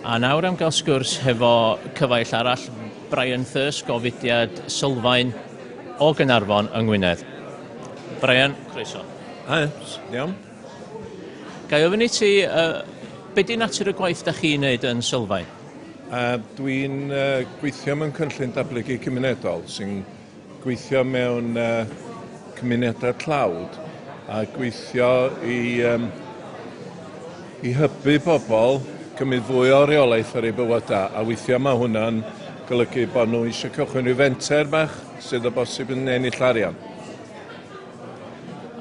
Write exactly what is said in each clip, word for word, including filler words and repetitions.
A nawr am gael sgwrs hefo cyfaill arall, Brian Thirsk o fudiad Sylfaen o Gaernarfon yng Ngwynedd. Brian, croeso. Hi, iawn. Ga i ofyn i ti, uh, be di natur y gwaith da chi'n neud yn Sylfaen? Uh, Dwi'n uh, gweithio mewn cynllun datblygu cymunedol sy'n gweithio mewn uh, cymunedau tlawd a gweithio i, um, i hybu pobl cymryd fwy o reolaeth ar eu bywydau, a weithiau mae hwnna'n golygu bod nhw eisiau cychwyn rhyw fenter bach sydd o bosib yn ennill arian.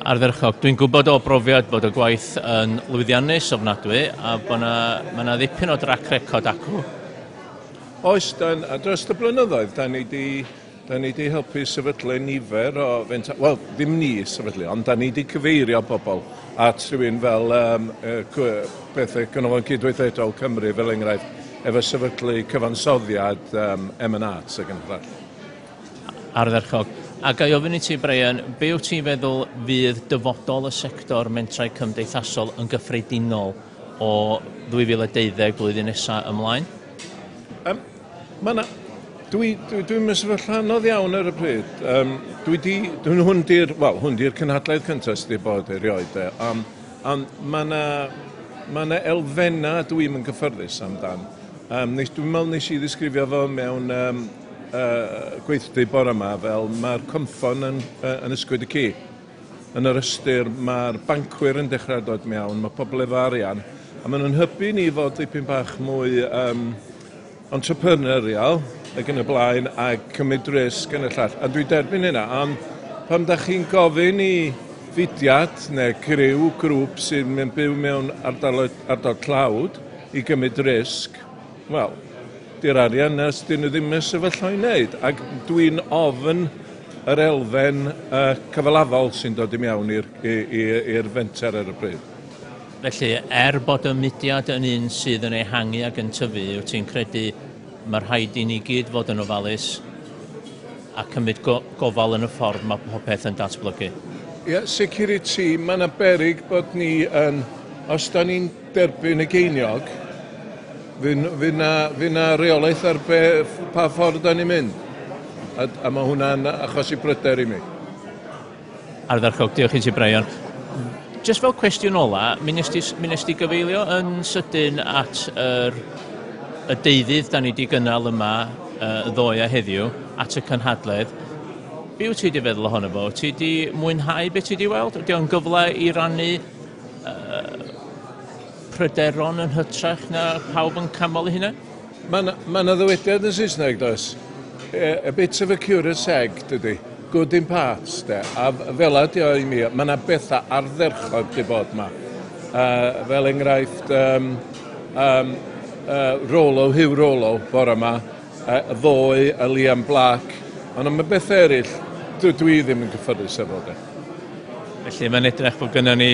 Ardderchog. Dwi'n gwybod o brofiad bod y gwaith yn lwyddiannus ofnadwy a bod na, ma' 'na ddipyn o drac record acw. Oes, dan, a dros y blynyddoedd, da ni di, da ni di helpu sefydlu nifer o fenta... Wel, ddim ni sefydlu, ond da ni di cyfeirio pobl at rhywun fel um, bethau Canolfan Cydweithredol Cymru, fel enghraifft, efo sefydlu cyfansoddiad um, M and Arts ac yn y blaen. Ardderchog. A ga i ofyn i ti, Brian, be wyt ti'n feddwl fydd dyfodol y sector mentrau cymdeithasol yn gyffredinol o ddwy fil a deuddeg blwyddyn nesaf ymlaen? Um, ma' 'na, dwi, dwi, dwi'n mewn sefyllfa anodd iawn ar y pryd. Um, dwi di, dwi'n hwn di'r, wel, hwn di'r cynhadledd cyntaf sydd wedi bod erioed. De. Um, ond ma' 'na, ma' 'na elfennau dwi'm yn gyffyrddus amdan. Um, nes, dwi'n meddwl nes i ddisgrifio fo mewn um, uh, gweithdy bore yma fel mae'r cynffon yn, uh, yn ysgwyd y ci. Yn yr ystyr, mae'r bancwyr yn dechrau dod mewn, mae pobl efo arian, a maen nhw'n hybu ni fod dipyn bach mwy um, entrepreneurial ac yn y blaen a cymryd risg yn y llall. A dwi'n derbyn hynna, ond pan da chi'n gofyn i fudiad neu criw, grŵp sy'n mynd byw mewn ardal, ardal tlawd i gymryd risg, wel, di'r arian na dyn nhw ddim yn sefyllfa i wneud. Ac dwi'n ofn yr elfen uh, cyfalafol sy'n dod i mewn i'r i'r fenter ar y pryd. Felly, er bod y mudiad yn un sydd yn ehangu ac yn tyfu, wyt ti'n credu mae rhaid i ni gyd fod yn ofalus a cymryd go gofal yn y ffordd mae popeth yn datblygu? Ie, yeah, sicr i ti, mae yna beryg bod ni yn, os da ni'n derbyn y geiniog, fydd na, fydd na reolaeth ar be, pa ffordd da ni'n mynd. A, a mae hwnna'n achosi pryder i mi. Ardderchog, diolch i ti, Brian. Just fel cwestiwn ola, mi nes ti, mi nes ti gyfeilio yn sydyn at yr, y deuddydd da ni wedi gynnal yma uh, ddoe a heddiw, at y cynhadledd. Be wyt ti wedi feddwl ohono fo? Ti wedi mwynhau beth ti wedi weld? Ydy o'n gyfle i rannu uh, pryderon yn hytrach na pawb yn canmol eu hunain? Mae yna ma ddywediad yn Saesneg, does? A, a bit of a curate's egg, dydy. Good in parts, de. A fel ydi o i mi, mae yna bethau ardderchog di bod yma. Uh, fel enghraifft, um, um, uh, Rolo, Hugh Rolo, bore yma, uh, ddoe, a Liam Black. Ond am y bethau eraill, dwi, dwi ddim yn gyffyrddus efo, de. Felly mae'n edrych bod gynnon ni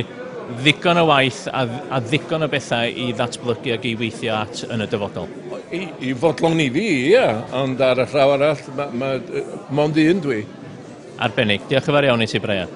ddigon o waith a, a ddigon o bethau i ddatblygu ac i weithio at yn y dyfodol. I, i fodlon i fi, ie, ond ar y llaw arall, ma, ma, mond un dwi. Arbennig. Diolch yn fawr iawn i ti, Brian.